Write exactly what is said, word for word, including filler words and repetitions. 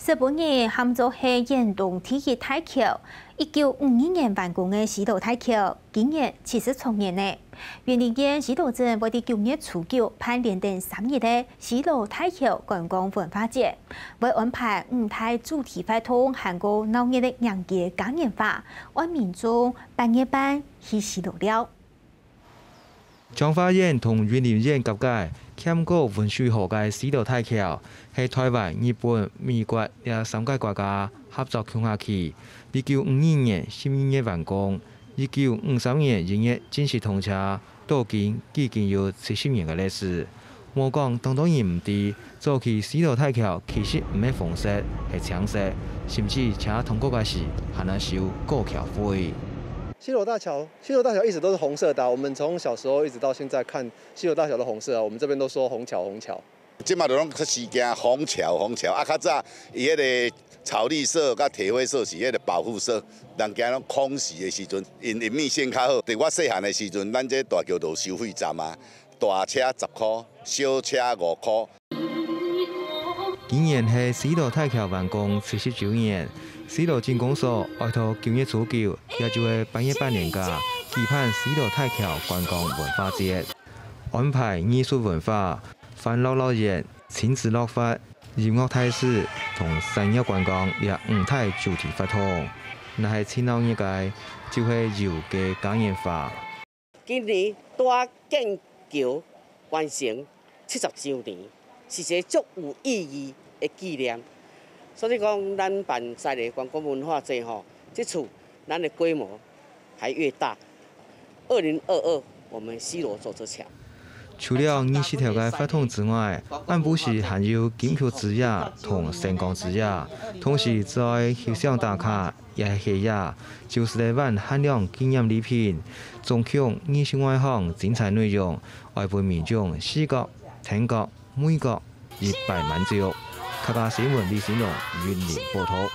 日本人喊做係遠東第一大橋。一九五二年完工个西螺大橋，今年七十週年呢。雲林縣西螺鎮會在九月初九辦連等三日个西螺大橋觀光文化節，會安排五大主題活動，還過鬧熱个迎接嘉年華，愛民眾八月半去西螺尞。彰化縣同雲林縣交界，欠過汶水河个西螺大橋，係臺灣、日本、美國這三個國家合作共下起，一九五二年十二月完工，一九五三年一月正式通車，到今既經有七十年个歷史。莫講當多人毋知， 早期西螺大橋其實毋係紅色，係青色，甚至車通過个時還愛收過橋費。西螺大橋，西螺大橋一直都是紅色的啊，我們從小時候一直到現在看西螺大橋都紅色啊，我們這邊都說紅橋，紅橋。這馬就攏時行紅橋，紅橋啊，較早伊迄個草綠色佮鐵灰色是迄個保護色，人行攏空襲的時陣，因因為線較好。對我細漢的時陣，咱這大橋就收費站啊，大車十箍，小車五箍。 今年係西螺大橋完工七十週年，西螺鎮公所愛到九月初九，也就係八月半連假，舉辦西螺大橋觀光文化節，安排藝術文化、歡樂樂園、親子樂園、音樂大使同產業觀光這五大主題活動。若係盡鬧熱个，就係遊街嘉年華。 今年大建橋完成七十週年，是一個足有意義的紀念。所以講，咱辦西螺觀光文化節吼，這次咱的規模還越大。二零二二，我們西螺走這橋。除了二十條个活動之外，暗晡時還有金曲之夜同星光之夜，同時做翕相打卡， 也係夜，就係來換限量紀念禮品，總共二十外項精彩內容，愛分民眾視覺、聽覺、味覺一擺滿足。客家新聞李新榮雲林報導。